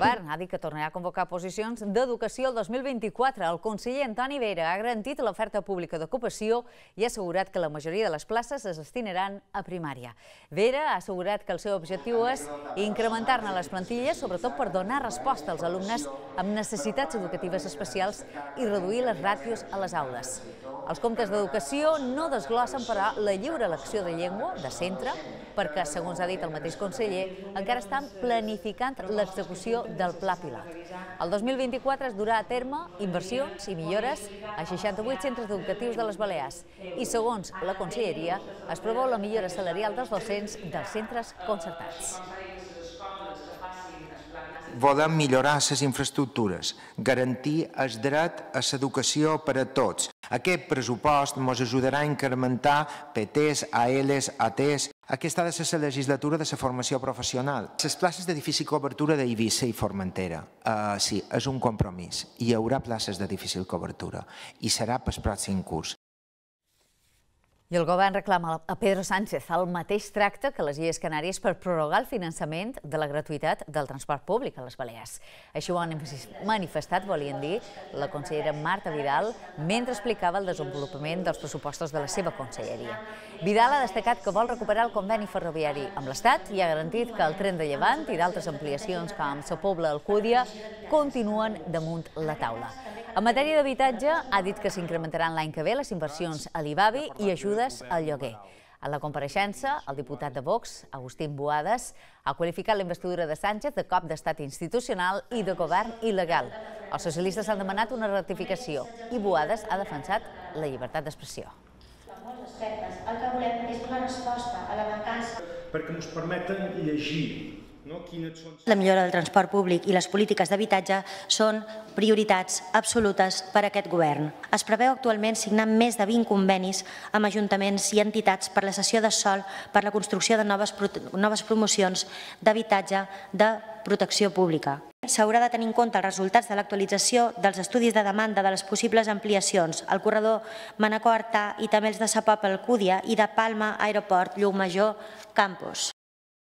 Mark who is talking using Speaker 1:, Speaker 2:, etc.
Speaker 1: govern ha dit que tornarà a convocar posicions d'educació el 2024. El conseller Antoni Vera ha garantit l'oferta pública d'ocupació i ha assegurat que la majoria de les places es destinaran a primària. Vera ha assegurat que el seu objectiu és incrementar-ne les plantilles, sobretot per donar resposta als alumnes amb necessitats educatives especials i reduir les ràtios a les aules. Els comptes d'educació no desglossen, però, la lliure elecció de llengua de centre, perquè, segons ha dit el mateix conseller, encara estan planificant l'execució del pla pilot. El 2024 es durà a terme inversions i millores a 68 centres educatius de les Balears i, segons la conselleria, es preveu la millora salarial dels docents dels centres concertats.
Speaker 2: Volem millorar les infraestructures, garantir el dret a l'educació per a tots. Aquest pressupost ens ajudarà a incrementar PTs, ALs, ATs. Aquesta ha de ser la legislatura de la formació professional. Les places de difícil cobertura d'Eivissa i Formentera, sí, és un compromís. Hi haurà places de difícil cobertura i serà pel pròxim curs.
Speaker 1: I el govern reclama a Pedro Sánchez el mateix tracte que les Illes Canàries per prorrogar el finançament de la gratuïtat del transport públic a les Balears. Així ho han manifestat, volien dir, la consellera Marta Vidal mentre explicava el desenvolupament dels pressupostos de la seva conselleria. Vidal ha destacat que vol recuperar el conveni ferroviari amb l'Estat i ha garantit que el tren de Llevant i d'altres ampliacions com la Pobla-Alcúdia continuen damunt la taula. En matèria d'habitatge, ha dit que s'incrementaran l'any que ve les inversions a l'IBABI i ajudes al lloguer. En la compareixença, el diputat de Vox, Agustín Boades, ha qualificat la investidura de Sánchez de cop d'estat institucional i de govern il·legal. Els socialistes han demanat una ratificació i Boades ha defensat la llibertat d'expressió.
Speaker 3: El que volem és donar resposta a la mancança.
Speaker 4: Perquè ens permeten llegir.
Speaker 3: La millora del transport públic i les polítiques d'habitatge són prioritats absolutes per a aquest govern. Es preveu actualment signar més de 20 convenis amb ajuntaments i entitats per la cessió de sòl per la construcció de noves promocions d'habitatge de protecció pública. S'haurà de tenir en compte els resultats de l'actualització dels estudis de demanda de les possibles ampliacions al corredor Manacor-Artà i també els de Sa Pobla-Alcúdia i de Palma Aeroport Llucmajor Campus.